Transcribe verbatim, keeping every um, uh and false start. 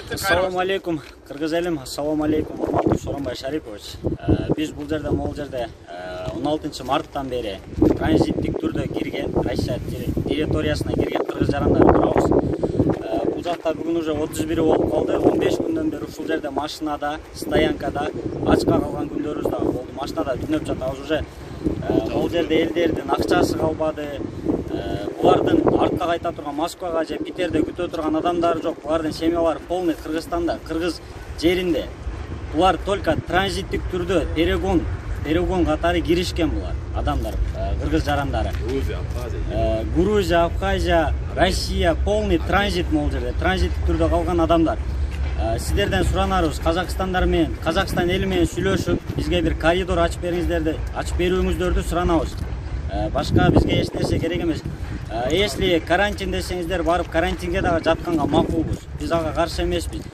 Assalamu alaikum, Kırgız elim. Assalamu alaikum, Soronbay Шарипович. Biz бул жерде, могул жерде он алтынчы марттан бери транзиттик түрдө кирген, Россия территориясына кирген кыргыз жарандар турабыз. Бул жакта бүгүн уже отуз бир болуп калды. он беш күндөн бери ушул жерде машинада, стоянкада ачка калган күндөрүбүз дагы болду. Машинада түнөп жатабыз уже. Бул жерде элдердин акчасы калбады. Булардын артка кайта турган Москвага же Питерде күтө турган адамдары жок. Булардын семьялары полный Кыргызстанда, Кыргыз жеринде. Булар только транзиттик түрдө перегон, перегон катары киришкен булар адамдар, кыргыз жарандары. Грузия, Абхазия, Россия полный транзит могул жерде, транзиттик түрдө калган адамдар. Сиздерден суранарыбыз, Казакстандар менен, Казакстан эли менен сүйлөшүп, бизге бир коридор ачып бериңиздерди, ачып берүүңүздөрдү суранабыз. Башка бизге эч нерсе керек эмес. Если карантин десеңиздер, барып карантинге дагы жатканга макулбуз. Биз ага каршы эмеспиз.